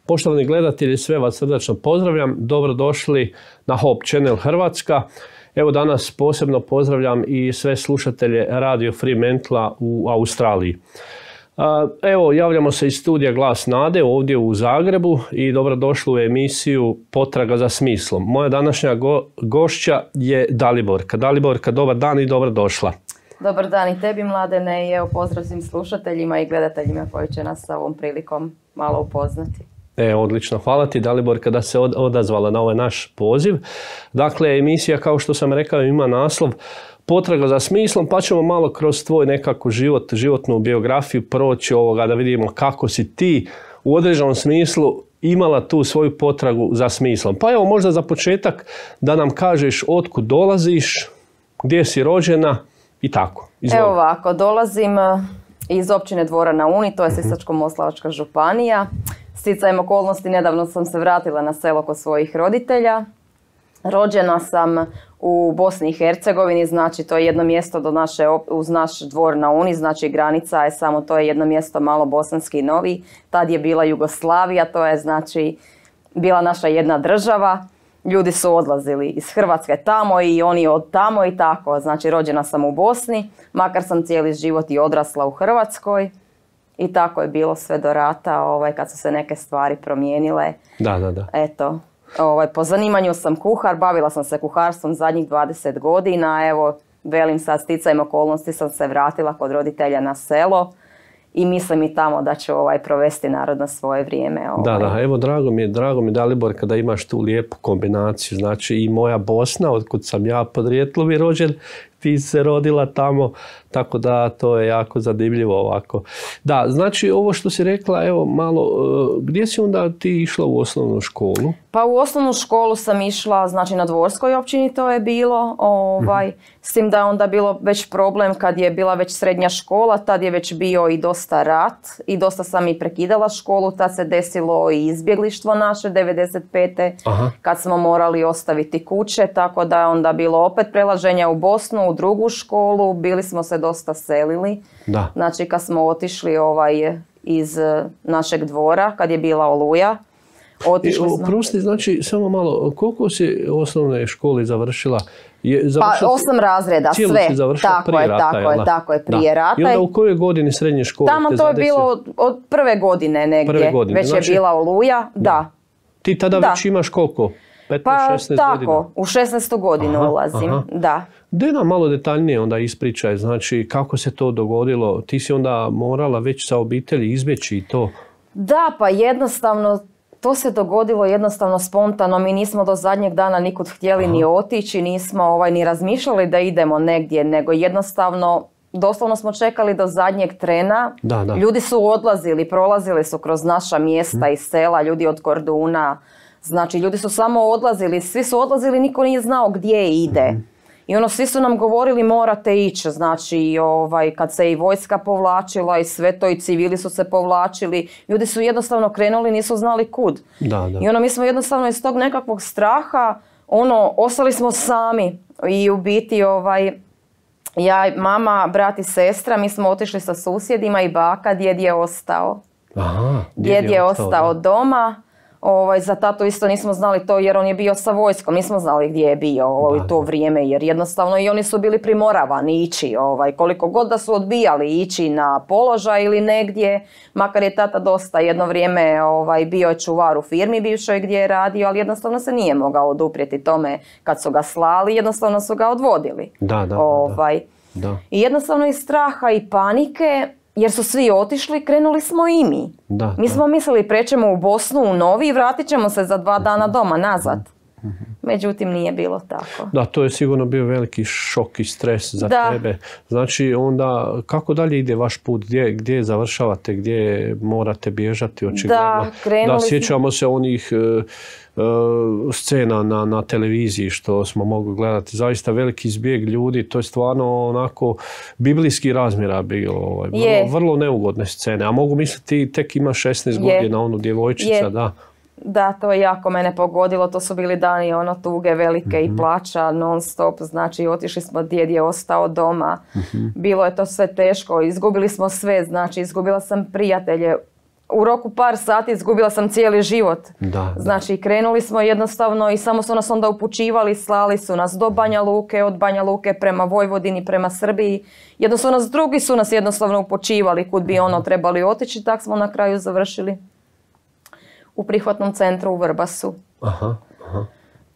Poštovani gledatelji, sve vas srdačno pozdravljam. Dobrodošli na Hope Channel Hrvatska. Evo danas posebno pozdravljam i sve slušatelje Radio Fremantle u Australiji. Evo, javljamo se iz studija Glas Nade ovdje u Zagrebu i dobrodošli u emisiju Potraga za smislom. Moja današnja gošća je Daliborka. Daliborka, dobar dan i dobrodošla. Dobar dan i tebi, Mladene, i evo pozdrav svim slušateljima i gledateljima koji će nas sa ovom prilikom malo upoznati. Odlično, hvala ti Daliborka da se odazvala na ovaj naš poziv. Dakle, emisija, kao što sam rekao, ima naslov Potraga za smislom, pa ćemo malo kroz tvoj nekako životnu biografiju proći ovoga da vidimo kako si ti u određenom smislu imala tu svoju potragu za smislom. Pa evo možda za početak da nam kažeš otkud dolaziš, gdje si rođena i tako. Izvoli. Evo ovako, dolazim iz općine Dvora na Uni, to je Sisačko-moslavačka županija. Sticajem okolnosti nedavno sam se vratila na selo kod svojih roditelja. Rođena sam u Bosni i Hercegovini, znači to je jedno mjesto uz naš Dvor na Uni, znači granica je samo, to je jedno mjesto malo Bosanski Novi. Tad je bila Jugoslavija, to je znači bila naša jedna država. Ljudi su odlazili iz Hrvatske tamo i oni od tamo i tako. Znači rođena sam u Bosni, makar sam cijeli život i odrasla u Hrvatskoj. I tako je bilo sve do rata, kad su se neke stvari promijenile. Da. Eto, po zanimanju sam kuhar, bavila sam se kuharstvom zadnjih 20 godina. Evo, velim sad, sticajem okolnosti sam se vratila kod roditelja na selo. I mislim i tamo da ću provesti narodno svoje vrijeme. Da, evo drago mi Daliborka da imaš tu lijepu kombinaciju. Znači i moja Bosna, otkud sam ja podrijetlom i rođen, ti se rodila tamo, tako da to je jako zanimljivo ovako. Da, znači ovo što si rekla, evo malo, gdje si onda ti išla u osnovnu školu? Pa u osnovnu školu sam išla, znači na Dvorskoj općini to je bilo, s tim da je onda bilo već problem kad je bila već srednja škola, tad je već bio i dosta rat i dosta sam i prekidala školu, tad se desilo i izbjeglištvo naše 95. Kad smo morali ostaviti kuće, tako da je onda bilo opet prelaženja u Bosnu, u drugu školu, bili smo se dosta selili. Da. Znači kad smo otišli iz našeg dvora, kad je bila Oluja, otišli smo. Prosti, znači samo malo, koliko si osnovne škole završila? Pa 8 razreda, sve. Si završila prije rata, tako je, prije rata. I onda u kojoj godini srednje škole? Tamo to je bilo od prve godine negdje, već znači, je bila Oluja, da. Ti tada već imaš koliko? 15, pa 16 tako, godina? U 16. godinu ulazim, da. Daj nam malo detaljnije onda ispričaj, znači kako se to dogodilo, ti si onda morala već sa obitelji izbjeći i to? Da, pa jednostavno, to se dogodilo jednostavno spontano, mi nismo do zadnjeg dana nikud htjeli ni otići, nismo ni razmišljali da idemo negdje, nego jednostavno, doslovno smo čekali do zadnjeg trena. Da. Ljudi su odlazili, prolazili su kroz naša mjesta i sela, ljudi od Korduna. Znači, ljudi su samo odlazili, svi su odlazili, niko nije znao gdje ide. I svi su nam govorili morate ići, znači kad se i vojska povlačila i sve to i civili su se povlačili, ljudi su jednostavno krenuli, nisu znali kud. Da. I mi smo jednostavno iz tog nekakvog straha, ostali smo sami i u biti ja, mama, brat i sestra, mi smo otišli sa susjedima i baka, djed je ostao. Djed je ostao doma. Za tatu isto nismo znali to jer on je bio sa vojskom, nismo znali gdje je bio u to vrijeme jer jednostavno i oni su bili primoravani ići, koliko god da su odbijali ići na položaj ili negdje, makar je tata dosta jedno vrijeme bio je čuvar u firmi bivšoj gdje je radio, ali jednostavno se nije mogao oduprijeti tome kad su ga slali, jednostavno su ga odvodili. Da. I jednostavno iz straha i panike, jer su svi otišli, krenuli smo i mi. Mi smo mislili prećemo u Bosnu, u Novi i vratit ćemo se za 2 dana doma nazad. Međutim, nije bilo tako. Da, to je sigurno bio veliki šok i stres za tebe. Znači, onda, kako dalje ide vaš put? Gdje završavate? Gdje morate bježati? Očigledno. Da, sjećamo se onih scena na televiziji što smo mogli gledati. Zaista veliki zbjeg ljudi. To je stvarno onako biblijski razmjera bilo. Vrlo neugodne scene. A mogu misliti, tek ima 16 godina, onu djevojčica, da. Da, to je jako mene pogodilo, to su bili dani tuge velike i plača non stop, znači otišli smo, djed je ostao doma, bilo je to sve teško, izgubili smo sve, znači izgubila sam prijatelje, u roku par sati izgubila sam cijeli život. Znači krenuli smo jednostavno i samo su nas onda upućivali, slali su nas do Banja Luke, od Banja Luke prema Vojvodini, prema Srbiji. Drugi su nas jednostavno upućivali kud bi trebali otići, tako smo na kraju završili u prihvatnom centru u Vrbasu.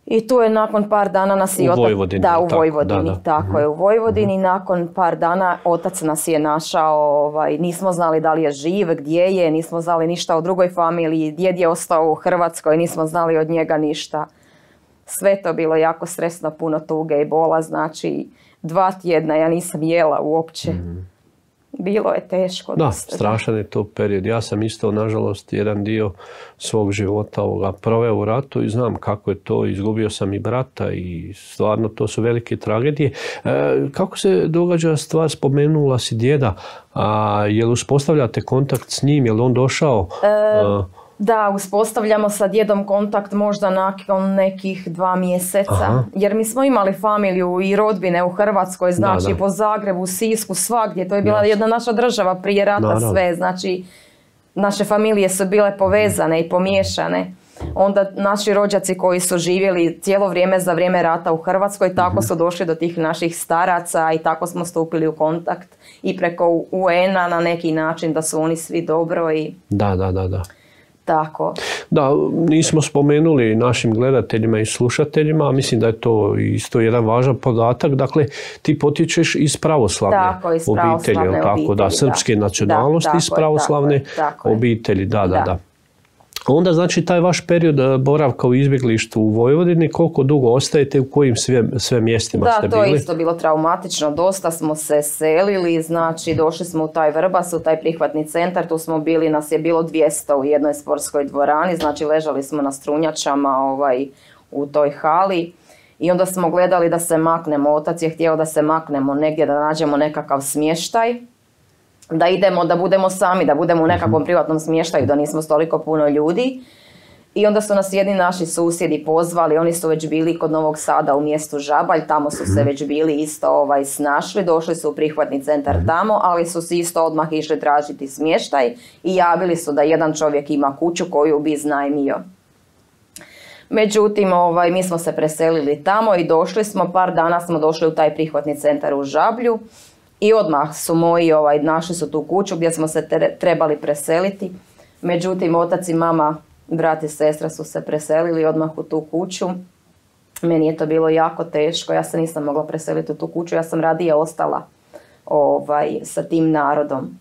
I tu je nakon par dana nas i otac... U Vojvodini. Da, u Vojvodini, tako je, u Vojvodini. Nakon par dana otac nas je našao, nismo znali da li je živ, gdje je, nismo znali ništa o drugoj familiji, djed je ostao u Hrvatskoj, nismo znali od njega ništa. Sve to bilo jako stresno, puno tuge i bola, znači 2 tjedna ja nisam jela uopće. Bilo je teško. Da, strašan je to period. Ja sam isto, nažalost, jedan dio svog života proveo u ratu i znam kako je to. Izgubio sam i brata i stvarno to su velike tragedije. Kako se događa stvar, spomenula si djeda, je li uspostavljate kontakt s njim, je li on došao? Da, uspostavljamo sa djedom kontakt možda nakon nekih 2 mjeseca. Jer mi smo imali familiju i rodbine u Hrvatskoj, znači po Zagrebu, Sisku, svagdje. To je bila jedna naša država prije rata, sve. Znači, naše familije su bile povezane i pomiješane. Onda naši rođaci koji su živjeli cijelo vrijeme za vrijeme rata u Hrvatskoj, tako su došli do tih naših staraca i tako smo stupili u kontakt. I preko UN-a na neki način da su oni svi dobro i... Da. Tako. Da, nismo spomenuli našim gledateljima i slušateljima, a mislim da je to isto jedan važan podatak. Dakle, ti potječeš iz pravoslavne obitelji, tako da, srpske nacionalnosti, iz pravoslavne obitelji, da. Onda znači taj vaš period boravka u izbjeglištu u Vojvodini, koliko dugo ostajete, u kojim sve mjestima ste bili? Da, to je isto bilo traumatično, dosta smo se selili, znači došli smo u taj Vrbas, u taj prihvatni centar, tu smo bili, nas je bilo 200 u jednoj sportskoj dvorani, znači ležali smo na strunjačama u toj hali i onda smo gledali da se maknemo, otac je htio da se maknemo negdje, da nađemo nekakav smještaj, da idemo, da budemo sami, da budemo u nekakvom privatnom smještaju, da nismo toliko puno ljudi. I onda su nas jedni naši susjedi pozvali, oni su već bili kod Novog Sada u mjestu Žabalj, tamo su se već bili isto snašli, došli su u prihvatni centar tamo, ali su si isto odmah išli tražiti smještaj i javili su da jedan čovjek ima kuću koju bi iznajmio. Međutim, mi smo se preselili tamo i došli smo, par dana smo došli u taj prihvatni centar u Žablju. I odmah su moji, našli su tu kuću gdje smo se trebali preseliti. Međutim, otac i mama, brat i sestra su se preselili odmah u tu kuću. Meni je to bilo jako teško, ja se nisam mogla preseliti u tu kuću, ja sam radije ostala sa tim narodom.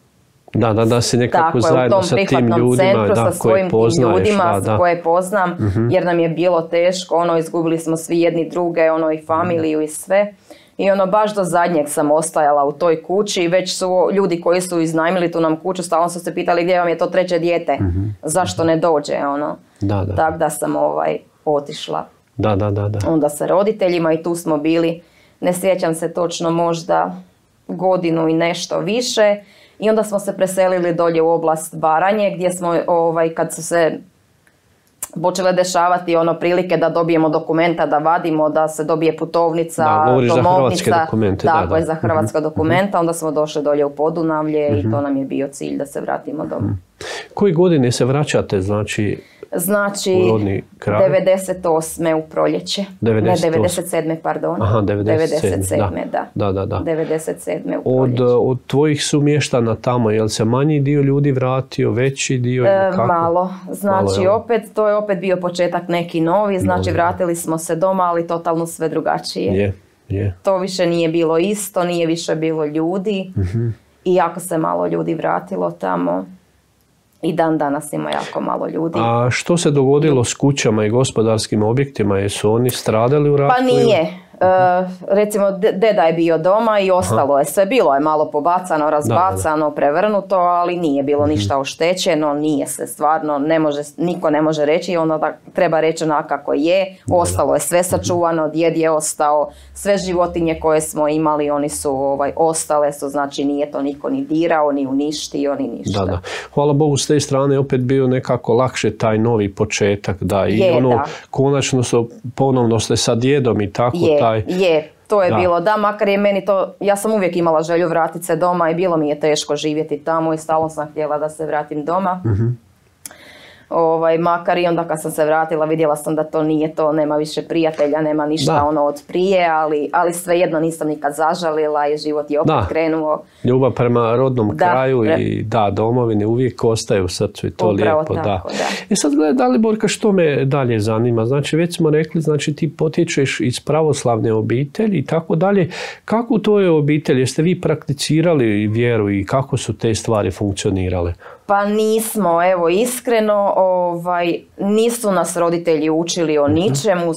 Da si nekako zajedno sa tim ljudima, sa svojim ljudima koje poznam, jer nam je bilo teško, izgubili smo svi jedni druge, i familiju i sve. I baš do zadnjeg sam ostajala u toj kući, već su ljudi koji su iznajmili tu nam kuću, stalno su se pitali gdje vam je to 3. dijete, zašto ne dođe, Tako da sam otišla. Da. Onda sa roditeljima i tu smo bili, ne sjećam se točno, možda godinu i nešto više. I onda smo se preselili dolje u oblast Baranje, gdje smo, kad su se počele dešavati prilike da dobijemo dokumenta, da vadimo, da se dobije putovnica, domovnica, dakle za hrvatska dokumenta, onda smo došli dolje u Podunavlje i to nam je bio cilj da se vratimo doma. Koje godine se vraćate, znači 98. u proljeće. 97. pardon. Aha, 97. Da. 97. u proljeće. Od tvojih sumještana tamo, je li se manji dio ljudi vratio, veći dio? Malo. Znači, to je opet bio početak neki novi. Znači, vratili smo se doma, ali totalno sve drugačije. To više nije bilo isto, nije više bilo ljudi. I jako se malo ljudi vratilo tamo. I dan danas ima jako malo ljudi. A što se dogodilo s kućama i gospodarskim objektima? Jesu oni stradali u ratu? Pa nije. Recimo, deda je bio doma i ostalo je sve. Bilo je malo pobacano, razbacano, prevrnuto, ali nije bilo ništa oštećeno. Nije se stvarno, niko ne može reći, onda treba reći kako je. Ostalo je sve sačuvano, djed je ostao, sve životinje koje smo imali, oni su ostale su, znači nije to niko ni dirao, ni uništio, ni ništa. Da. Hvala Bogu, s te strane opet bio nekako lakše taj novi početak, konačno ponovno ste sa djedom i tako Je, To je bilo, da, makar je meni to, ja sam uvijek imala želju vratiti se doma i bilo mi je teško živjeti tamo i stalno sam htjela da se vratim doma. Makar i onda kad sam se vratila vidjela sam da to nije to, nema više prijatelja, nema ništa od prije, ali svejedno nisam nikad zažalila i život je opet krenuo. Ljubav prema rodnom kraju i domovini uvijek ostaje u srcu i to lijepo. Tako, da. I sad gledaj, Daliborka, što me dalje zanima? Znači, već smo rekli, znači ti potječeš iz pravoslavne obitelji i tako dalje. Kako u tvojoj obitelji, jeste vi prakticirali vjeru i kako su te stvari funkcionirale? Pa nismo, evo iskreno, nisu nas roditelji učili o ničemu,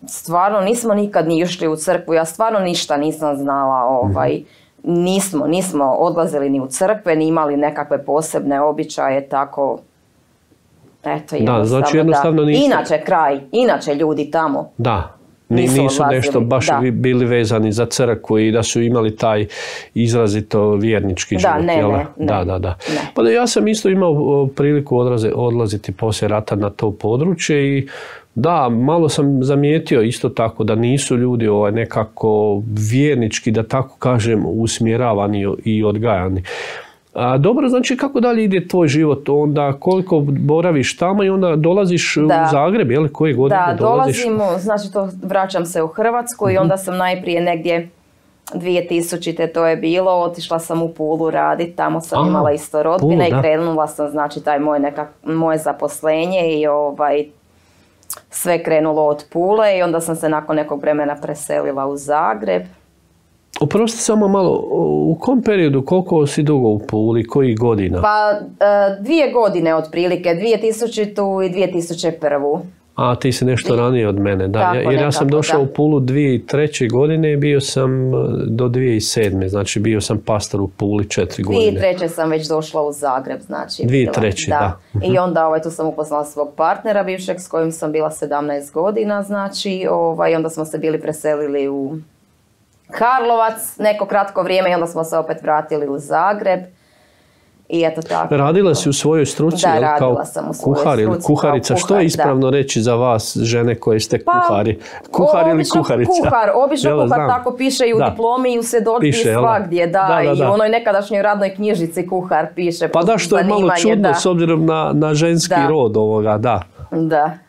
stvarno nismo nikad ni išli u crkvu, ja stvarno ništa nisam znala, nismo odlazili ni u crkve, ni imali nekakve posebne običaje, tako, eto jednostavno, inače ljudi tamo. Da. Nisu nešto baš bili vezani za crkvu i da su imali taj izrazito vjernički život. Da. Pa ja sam isto imao priliku odlaziti poslije rata na to područje i da, malo sam zamijetio isto tako da nisu ljudi nekako vjernički, da tako kažem, usmjeravani i odgajani. Dobro, znači kako dalje ide tvoj život, onda koliko boraviš tamo i onda dolaziš u Zagreb, je li, koje godine dolaziš? Da, dolazimo, znači vraćam se u Hrvatsku i onda sam najprije negdje 2000. to je bilo, otišla sam u Pulu raditi, tamo sam imala isto rodbine i krenula sam, znači taj moje zaposlenje i sve krenulo od Pule i onda sam se nakon nekog vremena preselila u Zagreb. Oprosti samo malo, u kom periodu, koliko si dugo u Puli, kojih godina? Pa 2 godine otprilike, 2000. i 2001. A ti si nešto ranije od mene, da. Tako, jer ja sam došao u Pulu 2003. godine i bio sam do 2007. Znači bio sam pastor u Puli 4 godine. 2003. sam već došla u Zagreb, znači. 2003. da. I onda tu sam upoznala svog partnera bivšeg s kojim sam bila 17 godina, znači. Onda smo se bili preselili u Karlovac neko kratko vrijeme i onda smo se opet vratili u Zagreb. I eto tako. Radila si u svojoj struci? Da, radila sam u svojoj struci. Ili kuharica. Što je ispravno reći za vas, žene koje ste kuhari? Kuhar ili kuharica? Obično kuhar, tako piše i u diplomi i u svjedodžbi i svagdje. I u onoj nekadašnjoj radnoj knjižici kuhar piše. Pa da, što je malo čudno s obzirom na ženski rod ovoga, da.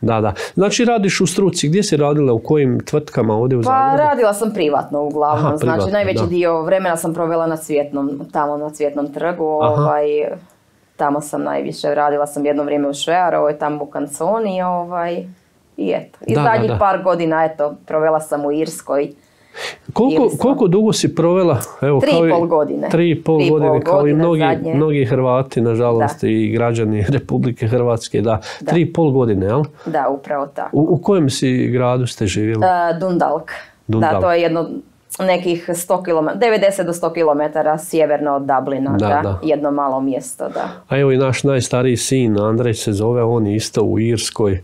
Da. Znači radiš u struci, gdje si radila, u kojim tvrtkama ovdje u Zagrebu? Pa radila sam privatno uglavnom, znači najveći dio vremena sam provela na tamo na Cvjetnom trgu, tamo sam najviše, radila sam jedno vrijeme u Švejarovoj, tamo u Kanconi, i eto. I zadnjih par godina, provela sam u Irskoj. Koliko dugo si provela? 3,5 godine. 3,5 godine, kao i mnogi Hrvati, nažalost, i građani Republike Hrvatske, 3,5 godine, jel? Da, upravo tako. U kojem si gradu ste živjeli? Dundalk. Da, to je jedno nekih 90 do 100 km sjeverno od Dublina, jedno malo mjesto, da. A evo i naš najstariji sin, Andrej se zove, on je isto u Irskoj,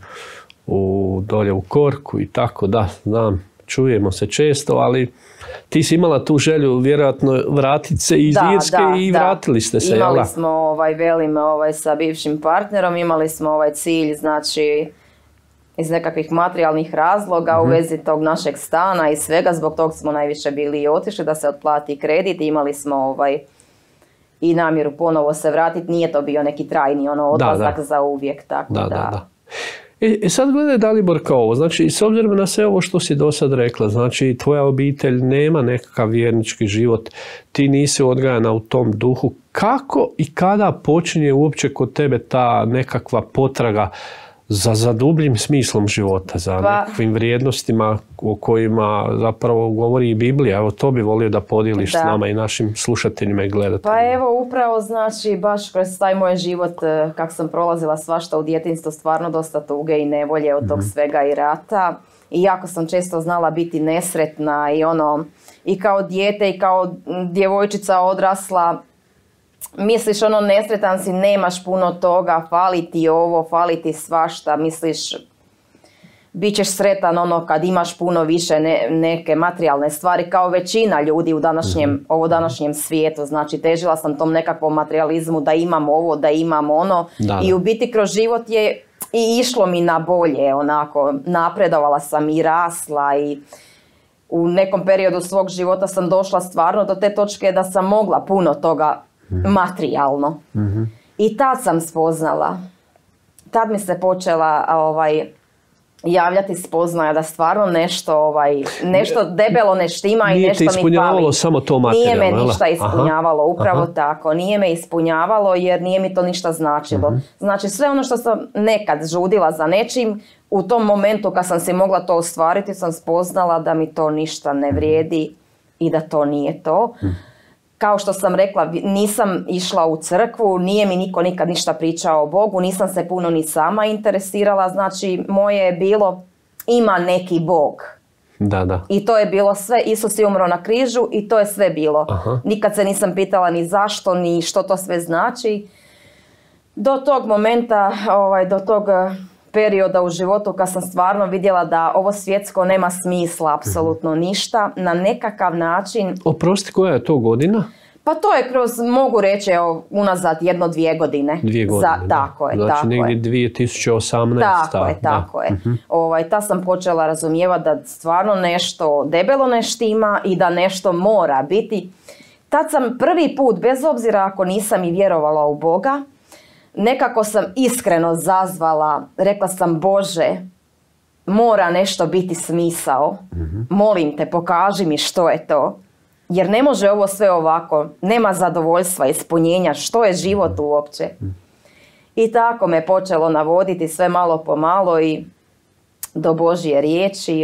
dolje u Korku i tako, znam. Čujemo se često, ali ti si imala tu želju vjerojatno vratiti se iz Irske i vratili ste se, imali smo, sa bivšim partnerom, imali smo cilj, znači, iz nekakvih materijalnih razloga u vezi tog našeg stana i svega, zbog tog smo najviše bili i otišli da se otplati kredit, imali smo i namjeru ponovo se vratiti, nije to bio neki trajni odlazak za uvijek, tako da. Sad gledaj Daliborka ovo, znači s obzirom na sve ovo što si do sad rekla, znači tvoja obitelj nema nekakav vjernički život, ti nisi odgajana u tom duhu, kako i kada počinje uopće kod tebe ta nekakva potraga za dubljim smislom života, za nekakvim vrijednostima o kojima zapravo govori i Biblija? Evo, to bi volio da podijeliš s nama i našim slušateljima i gledateljima. Pa evo, upravo znači, baš kroz taj moj život, kak sam prolazila svašta u djetinjstvu, stvarno dosta tuge i nevolje od tog svega i rata. I jako sam često znala biti nesretna i kao dijete i kao djevojčica odrasla. Misliš nesretan si, nemaš puno toga, fali ti ovo, fali ti svašta, misliš bit ćeš sretan kad imaš puno više neke materijalne stvari kao većina ljudi u današnjem svijetu. Znači težila sam tom nekakvom materializmu da imam ovo, da imam ono i u biti kroz život je i išlo mi na bolje, napredovala sam i rasla u nekom periodu svog života sam došla stvarno do te točke da sam mogla puno toga materijalno. I tad sam spoznala, tad mi se počela javljati spoznaja da stvarno nešto debelo ne štima i nešto mi fali. Nije te ispunjavalo samo to materijalno? Nije me ništa ispunjavalo, upravo tako. Nije me ispunjavalo jer nije mi to ništa značilo. Znači sve ono što sam nekad žudila za nečim, u tom momentu kad sam si mogla to ostvariti sam spoznala da mi to ništa ne vrijedi i da to nije to. Kao što sam rekla, nisam išla u crkvu, nije mi niko nikad ništa pričao o Bogu, nisam se puno ni sama interesirala, znači moje je bilo ima neki Bog. Da. I to je bilo sve, Isus je umro na križu i to je sve bilo. Nikad se nisam pitala ni zašto, ni što to sve znači. Do tog momenta, do tog perioda u životu kad sam stvarno vidjela da ovo svjetsko nema smisla, apsolutno ništa, na nekakav način... Oprosti, koja je to godina? Pa to je mogu reći, unazad 1-2 godine. 2 godine, tako je, znači tako negdje 2018. Tako je. Ta sam počela razumijevati da stvarno nešto debelo ne štima i da nešto mora biti. Tad sam prvi put, bez obzira ako nisam i vjerovala u Boga, nekako sam iskreno zazvala, rekla sam Bože, mora nešto biti smisao, molim te pokaži mi što je to, jer ne može ovo sve ovako, nema zadovoljstva, ispunjenja, što je život uopće. I tako me počelo navoditi sve malo po malo i do Božje riječi.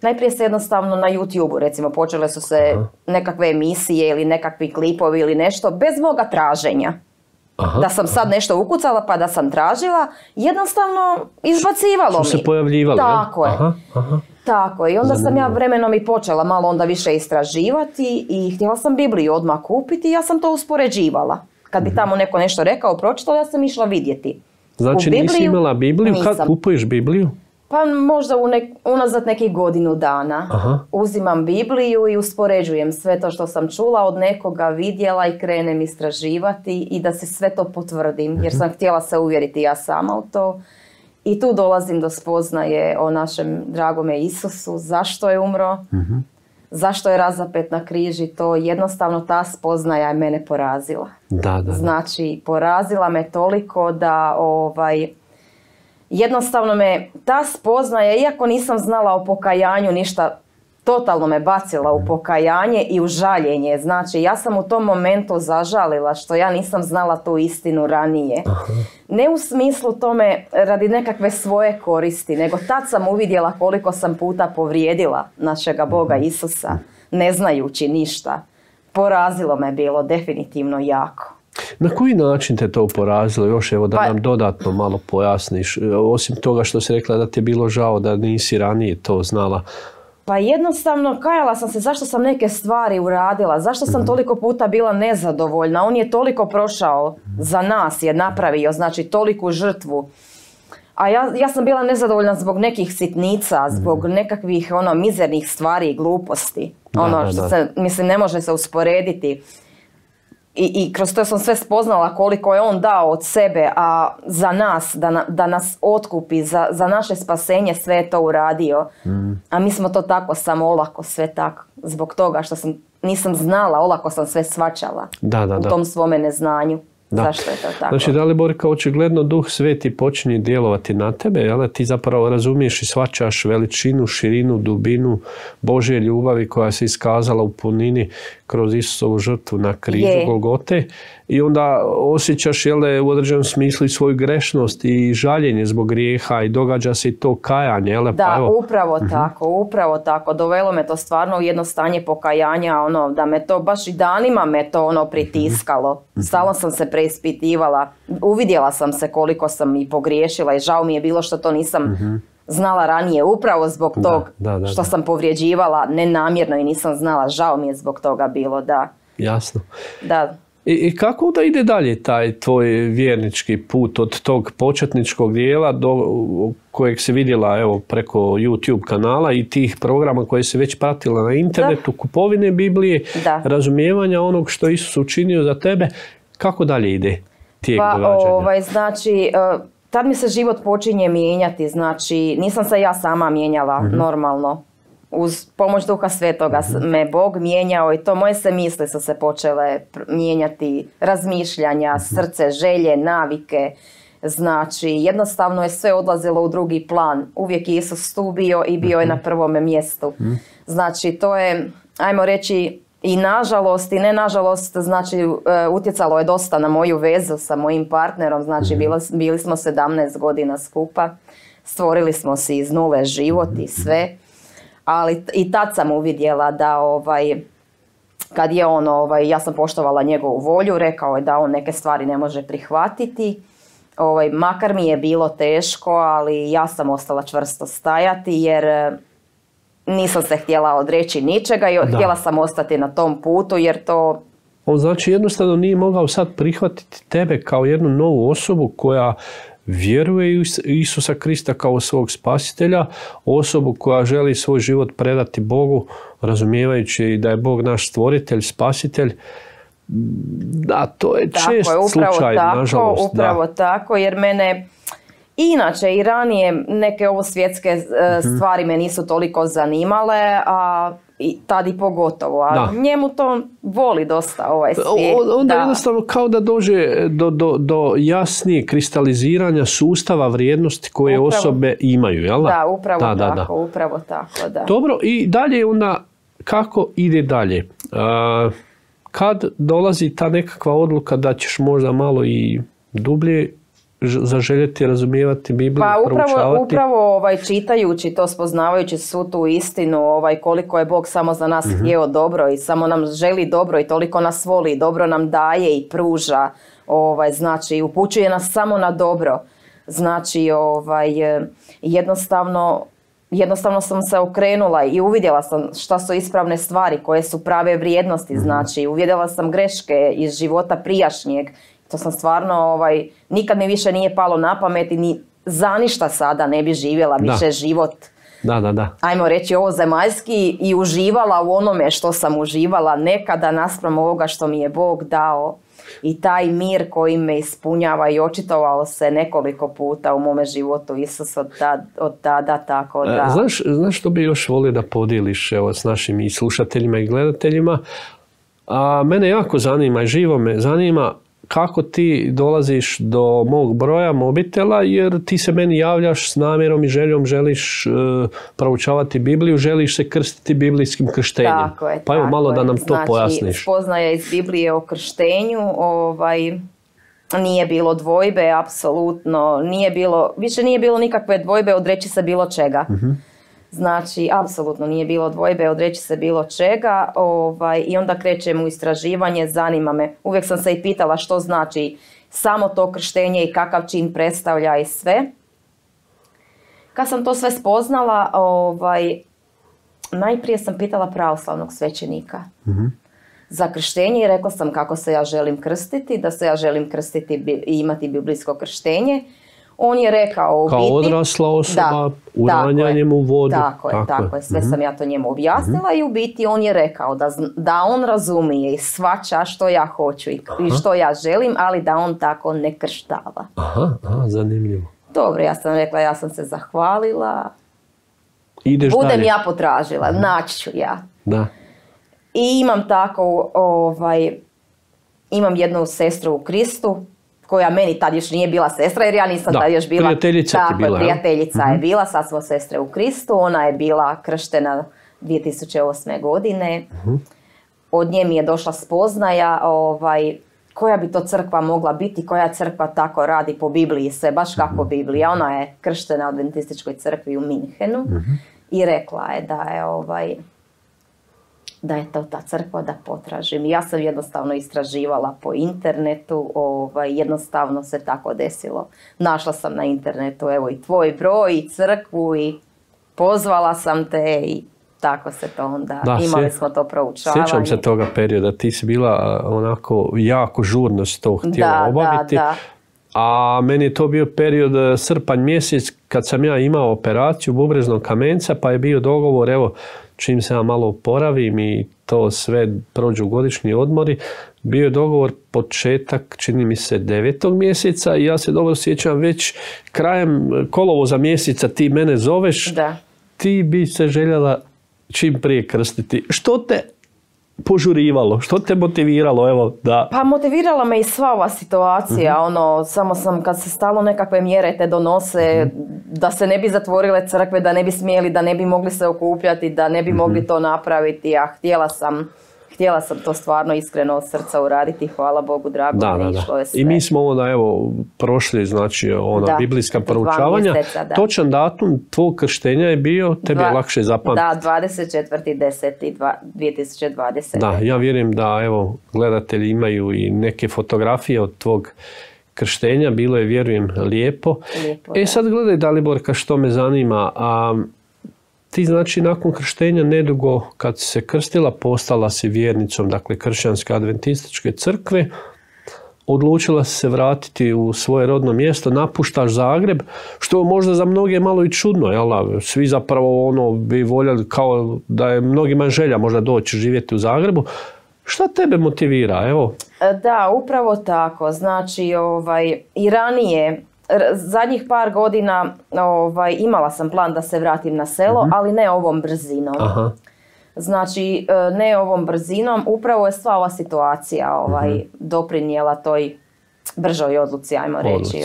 Najprije se jednostavno na YouTube-u, recimo, počele su se nekakve emisije ili nekakvi klipovi ili nešto, bez moga traženja. Da sam sad nešto ukucala pa da sam tražila, jednostavno izbacivalo mi. Su se pojavljivali, tako je. Tako je. I onda sam ja vremenom i počela malo onda više istraživati i htjela sam Bibliju odmah kupiti i ja sam to uspoređivala. Kad bi tamo neko nešto rekao, pročitala, ja sam išla vidjeti. Znači nisi imala Bibliju? Kad kupuješ Bibliju? Pa možda unazad nekih godinu dana. Uzimam Bibliju i uspoređujem sve to što sam čula od nekoga, vidjela i krenem istraživati i da se sve to potvrdim. Jer sam htjela se uvjeriti ja sama u to. I tu dolazim do spoznaje o našem dragome Isusu, zašto je umro, zašto je razapet na križi, to jednostavno ta spoznaja je mene porazila. Da. Znači, porazila me toliko da jednostavno me ta spoznaja, iako nisam znala o pokajanju ništa, totalno me bacila u pokajanje i u žaljenje. Znači, ja sam u tom momentu zažalila što ja nisam znala tu istinu ranije. Ne u smislu tome radi nekakve svoje koristi, nego tad sam uvidjela koliko sam puta povrijedila našega Boga Isusa, ne znajući ništa. Porazilo me bilo definitivno jako. Na koji način te to porazilo? Još evo da nam dodatno malo pojasniš. Osim toga što si rekla da ti je bilo žao da nisi ranije to znala. Pa jednostavno kajala sam se zašto sam neke stvari uradila, zašto sam toliko puta bila nezadovoljna. On je toliko prošao za nas, je napravio, znači toliku žrtvu. A ja sam bila nezadovoljna zbog nekih sitnica, zbog nekakvih mizernih stvari i gluposti. Mislim, ne može se usporediti. I kroz to sam sve spoznala koliko je on dao od sebe, a za nas, da nas otkupi, za naše spasenje sve je to uradio. A mi smo to tako samo olako sve tako. Zbog toga što nisam znala, olako sam sve shvaćala u tom svome neznanju. Zašto je to tako? Znači, Daliborka, očigledno Duh Sveti počinje djelovati na tebe, jel? Ti zapravo razumiješ i shvaćaš veličinu, širinu, dubinu Božje ljubavi koja se iskazala u punini kroz Isusovu žrtvu na križu Golgote. I onda osjećaš, jel, u određenom smislu i svoju grešnost i žaljenje zbog grijeha i događa se i to kajanje, jel? Da, upravo tako. Dovelo me to stvarno u jedno stanje pokajanja, da me to baš i danima me to pritiskalo. Stalno sam se preispitivala. Uvidjela sam se koliko sam i pogriješila i žao mi je bilo što to nisam znala ranije, upravo zbog tog što sam povrijeđivala nenamjerno i nisam znala, žao mi je zbog toga bilo, da. Jasno. Da. I kako da ide dalje taj tvoj vjernički put od tog početničkog dijela do kojeg si vidjela evo preko YouTube kanala i tih programa koje si već pratila na internetu, kupovine Biblije, razumijevanja onog što Isus učinio za tebe, kako dalje ide tijek događanja? Znači, tad mi se život počinje mijenjati, znači nisam se ja sama mijenjala normalno. uz pomoć Duha Svetoga me Bog mijenjao i to moje se misli su se počele mijenjati, razmišljanja, srce, želje, navike. Znači, jednostavno je sve odlazilo u drugi plan. Uvijek je Isus tu bio i bio je na prvome mjestu. Znači, to je, ajmo reći, i nažalost i ne nažalost, znači, utjecalo je dosta na moju vezu sa mojim partnerom. Znači, bili smo 17 godina skupa. Stvorili smo si iz nule život i sve. Ali i tad sam uvidjela da kad je on, ja sam poštovala njegovu volju, rekao je da on neke stvari ne može prihvatiti. Makar mi je bilo teško, ali ja sam ostala čvrsto stajati jer nisam se htjela odreći ničega i htjela sam ostati na tom putu jer to... On znači jednostavno nije mogao sad prihvatiti tebe kao jednu novu osobu koja vjeruje u Isusa Krista kao svog spasitelja, osobu koja želi svoj život predati Bogu, razumijevajući da je Bog naš stvoritelj, spasitelj. Da, to je čest slučaj, nažalost. Upravo tako, jer mene inače i ranije neke ovo svjetske stvari me nisu toliko zanimale, a i tad i pogotovo, a njemu to voli dosta ovaj svijet. Onda jednostavno kao da dođe do jasnije kristaliziranja sustava vrijednosti koje osobe imaju, jel da? Da, upravo tako, da. Dobro, i dalje onda, kako ide dalje? Kad dolazi ta nekakva odluka da ćeš možda malo i dublje zaželjeti razumijevati Bibliju, proučavati? Upravo čitajući to, spoznavajući svu tu istinu, koliko je Bog samo za nas htio dobro i samo nam želi dobro i toliko nas voli, dobro nam daje i pruža, znači upućuje nas samo na dobro. Znači jednostavno sam se okrenula i uvidjela sam šta su ispravne stvari, koje su prave vrijednosti, znači uvidjela sam greške iz života prijašnjeg. To sam stvarno, nikad mi više nije palo na pamet i ni za ništa sada ne bi živjela više život. Ajmo reći ovo zemaljski i uživala u onome što sam uživala nekada naspram ovoga što mi je Bog dao. I taj mir koji me ispunjava i očitovao se nekoliko puta u mome životu Isus od tada, tako da... Znaš što bi još volio da podijeliš s našim i slušateljima i gledateljima? Mene jako zanima i živo me zanima kako ti dolaziš do mog broja mobitela, jer ti se meni javljaš s namjerom i željom, želiš proučavati Bibliju, želiš se krstiti biblijskim krštenjem. Tako je, pa evo malo da nam to pojasniš. Znači, spoznaja iz Biblije o krštenju, nije bilo dvojbe, apsolutno, više nije bilo nikakve dvojbe odreći se bilo čega. Znači, apsolutno nije bilo dvojbe odreći se bilo čega i onda krećem u istraživanje, zanima me. Uvijek sam se i pitala što znači samo to krštenje i kakav čin predstavlja i sve. Kad sam to sve spoznala, najprije sam pitala pravoslavnog svećenika za krštenje i rekla sam kako se ja želim krstiti, da se ja želim krstiti i imati biblijsko krštenje. On je rekao kao odrasla osoba, uranjanjem u vodu. Tako je. Sve sam ja to njemu objasnila i u biti on je rekao da on razumije i shvaća što ja hoću i što ja želim, ali da on tako ne krštava. Aha, zanimljivo. Dobro, ja sam rekla, ja sam se zahvalila. Ideš budem dalje. Ja potražila, naći ću ja. Da. I imam tako, imam jednu sestru u Kristu, koja meni tad još nije bila sestra, jer ja nisam tad još bila... Prijateljica ti bila, prijateljica je bila, sad smo sestre u Kristu, ona je bila krštena 2008. godine. Od nje mi je došla spoznaja koja bi to crkva mogla biti, koja crkva tako radi po Bibliji, sve baš kako Biblija. Ona je krštena u Adventističkoj crkvi u Minhenu i rekla je da je to ta crkva, da potražim. Ja sam jednostavno istraživala po internetu, jednostavno se tako desilo. Našla sam na internetu, evo i tvoj broj i crkvu i pozvala sam te i tako se to onda, imali smo to proučavanje. Sjećam se toga perioda, ti si bila onako jako žurno s to htjela obaviti. A meni je to bio period srpanj mjesec kad sam ja imao operaciju bubreznog kamenca, pa je bio dogovor, evo, čim se ja malo oporavim i to sve prođu godišnji odmori, bio je dogovor početak, čini mi se, 9. mjeseca i ja se dobro sjećam već krajem kolovoza mjeseca ti mene zoveš, ti bi se željela čim prije krstiti. Što te požurivalo? Što te motiviralo? Evo, da... Pa motivirala me i sva ova situacija, samo sam kad se stalno nekakve mjere te donose, da se ne bi zatvorile crkve, da ne bi smjeli, da ne bi mogli se okupljati, da ne bi mogli to napraviti, a htjela sam to stvarno iskreno od srca uraditi, hvala Bogu, drago mi je išlo je sve. I mi smo onda prošli, znači, biblijska proučavanja. Točan datum tvog krštenja je bio, tebi je lakše zapamtiti. Da, 24.10.2020. Da, ja vjerujem da, gledatelji imaju i neke fotografije od tvog krštenja, bilo je, vjerujem, lijepo. Sad gledaj, Daliborka, što me zanima, ti, znači, nakon krštenja nedugo kad si se krstila, postala si vjernicom, dakle, kršćanske adventističke crkve, odlučila si se vratiti u svoje rodno mjesto, napuštaš Zagreb, što možda za mnoge malo i čudno, jel? Svi zapravo bi voljeli, kao da je mnogima želja možda doći živjeti u Zagrebu. Šta tebe motivira, evo? Da, upravo tako, znači, i ranije, zadnjih par godina imala sam plan da se vratim na selo, ali ne ovom brzinom. Znači, ne ovom brzinom, upravo je sva ova situacija doprinijela toj bržoj odluci, ajmo reći.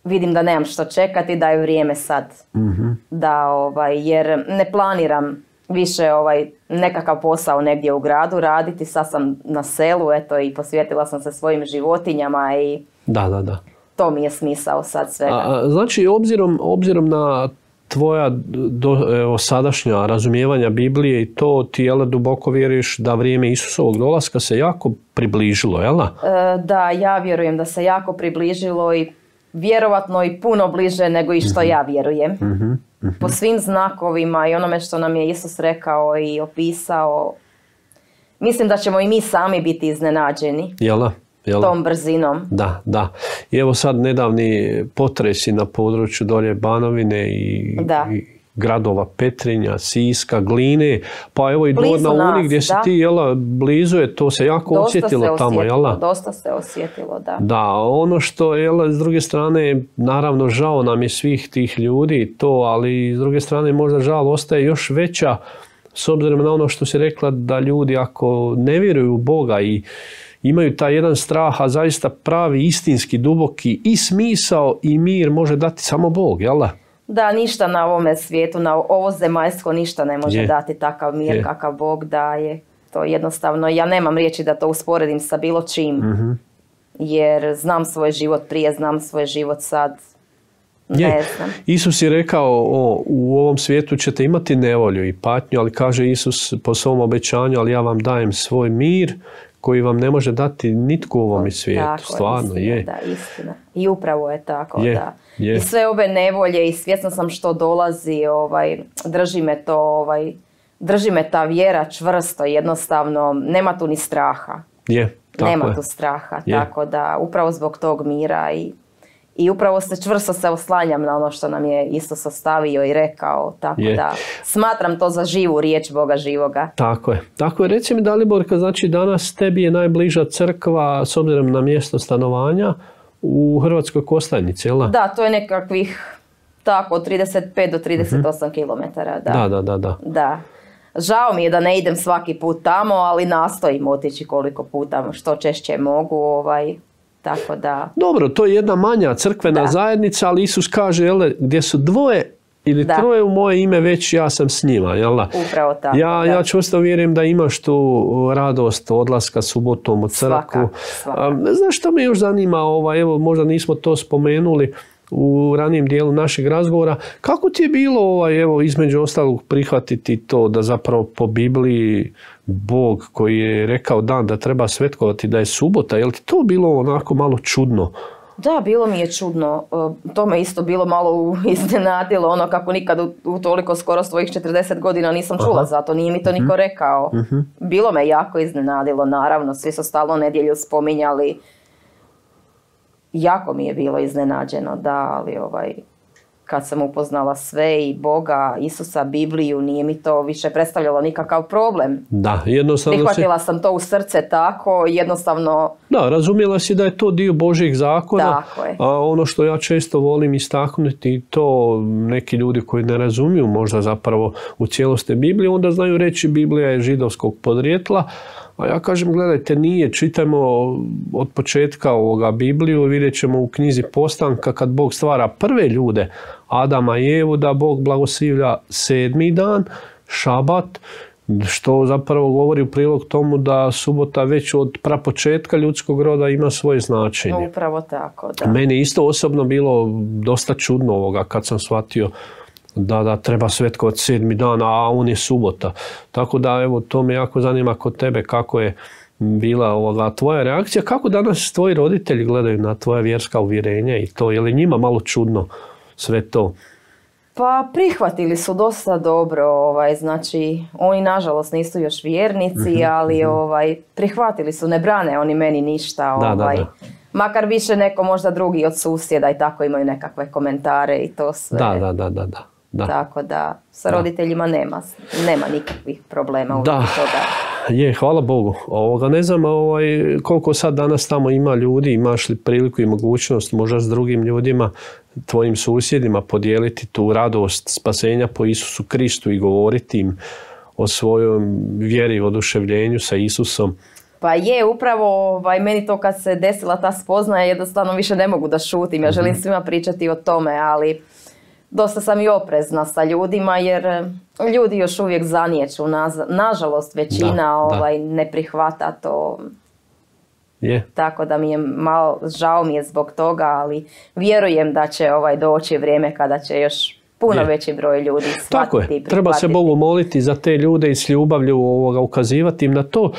Vidim da nemam što čekati, da je vrijeme sad. Jer ne planiram više nekakav posao negdje u gradu raditi, sad sam na selu, i posvetila sam se svojim životinjama i... Da. To mi je smisao sad svega. Znači, obzirom na tvoja sadašnja razumijevanja Biblije i to, ti duboko vjeruješ da vrijeme Isusovog dolaska se jako približilo, jel? Da, ja vjerujem da se jako približilo i vjerovatno i puno bliže nego i što ja vjerujem. Po svim znakovima i onome što nam je Isus rekao i opisao, mislim da ćemo i mi sami biti iznenađeni. Jel? Tom brzinom. Da. I evo sad nedavni potresi na području dolje Banovine i gradova Petrinja, Siska, Gline, pa evo i Dvor na Uni gdje si ti, blizu je, to se jako osjetilo tamo, jel? Dosta se osjetilo, da. Da, ono što, s druge strane, naravno žao nam je svih tih ljudi, ali s druge strane možda žal ostaje još veća, s obzirom na ono što si rekla, da ljudi ako ne vjeruju u Boga i imaju taj jedan strah, a zaista pravi, istinski, duboki i smisao i mir može dati samo Bog, jel da? Da, ništa na ovome svijetu, na ovo zemaljsko ništa ne može dati takav mir kakav Bog daje. To jednostavno, ja nemam riječi da to usporedim sa bilo čim, jer znam svoj život prije, znam svoj život sad. Ne znam. Isus je rekao, u ovom svijetu ćete imati nevolju i patnju, ali kaže Isus po svom obećanju, ali ja vam dajem svoj mir, koji vam ne može dati nitko u ovom svijetu. Tako, stvarno, istina, je. Da, istina. I upravo je tako, da. I sve ove nevolje i svjesna sam što dolazi, drži me ta vjera čvrsto, jednostavno, nema tu ni straha. Nema tu straha, tako da upravo zbog tog mira i upravo čvrsto se oslanjam na ono što nam je Isus ostavio i rekao, tako da smatram to za živu riječ Boga živoga. Tako je. Reci mi, Daliborka, znači danas tebi je najbliža crkva s obzirom na mjesto stanovanja u Hrvatskoj Kostajnici, jel? Da, to je nekakvih tako od 35 do 38 km. Da. Žao mi je da ne idem svaki put tamo, ali nastojim otići koliko puta, što češće mogu, tako da... Dobro, to je jedna manja crkvena zajednica, ali Isus kaže, gdje su dvoje ili troje u moje ime, već ja sam s njima, jel da? Upravo tako. Ja čvrsto vjerujem da imaš tu radost odlaska subotom u crkvu. Svaka. Znaš što me još zanima, evo možda nismo to spomenuli u ranijem dijelu našeg razgovora, kako ti je bilo između ostalog prihvatiti to da zapravo po Bibliji Bog koji je rekao dan da treba svetkovati da je subota, je li ti to bilo onako malo čudno? Da, bilo mi je čudno. To me isto bilo malo iznenadilo, kako nikad u toliko skoro svojih 40 godina nisam čula za to, nije mi to niko rekao. Bilo me jako iznenadilo, naravno, svi su stalno nedjelju spominjali. Jako mi je bilo iznenađeno, da, ali kad sam upoznala sve i Boga, Isusa, Bibliju, nije mi to više predstavljalo nikakav problem. Da, jednostavno prihvatila sam to u srce tako, jednostavno Da, razumjela si da je to dio Božjih zakona. Tako je. A ono što ja često volim istaknuti, to neki ljudi koji ne razumiju možda zapravo u cijelosti Bibliju, onda znaju reći Biblija je židovskog podrijetla. A ja kažem, gledajte, nije, čitajmo od početka ovoga Bibliju, vidjet ćemo u knjizi Postanka kad Bog stvara prve ljude, Adama i Evu, da Bog blagoslivlja 7. dan, šabat, što zapravo govori u prilog tomu da subota već od prapočetka ljudskog roda ima svoje značenje. Upravo tako, da. Meni isto osobno bilo dosta čudno ovoga kad sam shvatio da treba svetkovati 7. dan, a on je subota. Tako da, evo, to me jako zanima kod tebe kako je bila tvoja reakcija. Kako danas tvoji roditelji gledaju na tvoja vjerska uvjerenja i to? Je li njima malo čudno sve to? Pa prihvatili su dosta dobro, znači oni nažalost nisu još vjernici, ali prihvatili su, ne brane oni meni ništa. Da. Makar više neko možda drugi od susjeda i tako imaju nekakve komentare i to sve. Da. Tako da sa roditeljima nema nikakvih problema u toga. Je, hvala Bogu. Ne znam koliko sad danas tamo ima ljudi, imaš li priliku i mogućnost možda s drugim ljudima, tvojim susjedima podijeliti tu radost spasenja po Isusu Kristu i govoriti im o svojoj vjeri i oduševljenju sa Isusom. Pa je, upravo meni to kad se desila ta spoznaja, jednostavno više ne mogu da šutim. Ja želim svima pričati o tome, ali dosta sam i oprezna sa ljudima jer ljudi još uvijek zaniječu. Nažalost, većina ne prihvata to. Je. Tako da mi je malo žao mi je zbog toga, ali vjerujem da će doći vrijeme kada će još puno veći broj ljudi shvatiti. Tako je, treba se Bogu moliti za te ljude i s ljubavlju ukazivati im na to.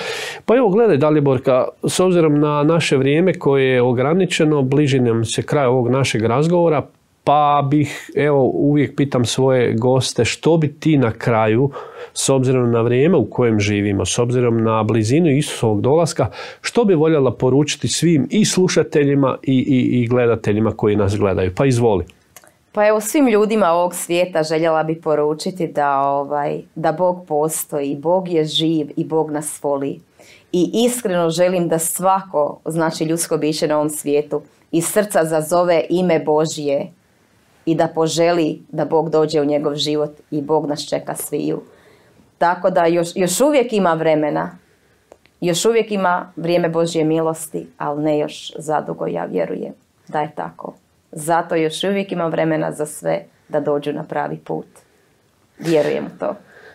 Pa evo gledaj Daliborka, s obzirom na naše vrijeme koje je ograničeno, bliži nam se kraj ovog našeg razgovora, pa bih, evo, uvijek pitam svoje goste što bi ti na kraju, s obzirom na vrijeme u kojem živimo, s obzirom na blizinu Isusovog dolaska, što bi voljela poručiti svim i slušateljima i gledateljima koji nas gledaju? Pa izvoli. Pa evo, svim ljudima ovog svijeta željela bi poručiti da Bog postoji, Bog je živ i Bog nas voli. I iskreno želim da svako, znači ljudsko biće na ovom svijetu, iz srca zazove ime Božje i da poželi da Bog dođe u njegov život i Bog nas čeka sviju. Tako da još uvijek ima vremena, još uvijek ima vrijeme Božje milosti, ali ne još zadugo, ja vjerujem da je tako. Zato još uvijek ima vremena za sve da dođu na pravi put. Vjerujem u to.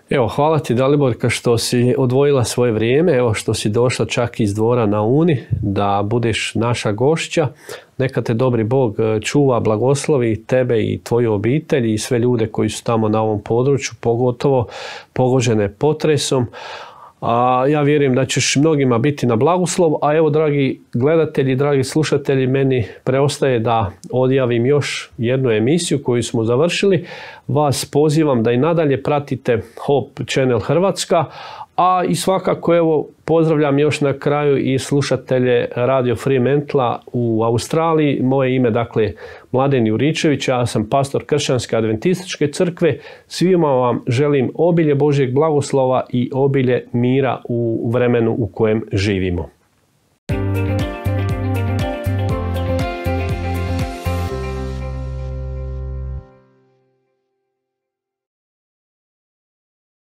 Evo, hvala ti Daliborka što si odvojila svoje vrijeme, evo što si došla čak iz Dvora na Uni da budeš naša gošća. Neka te dobri Bog čuva, blagoslovi tebe i tvoju obitelj i sve ljude koji su tamo na ovom području, pogotovo pogođene potresom. A ja vjerujem da ćeš mnogima biti na blagoslov, a evo dragi gledatelji, dragi slušatelji, meni preostaje da odjavim još jednu emisiju koju smo završili. Vas pozivam da i nadalje pratite Hope Channel Hrvatska, a i svakako evo pozdravljam još na kraju i slušatelje Radio Fremantle u Australiji. Moje ime dakle Mladen Juričević, ja sam pastor Kršćanske adventističke crkve. Svima vam želim obilje Božjeg blagoslova i obilje mira u vremenu u kojem živimo.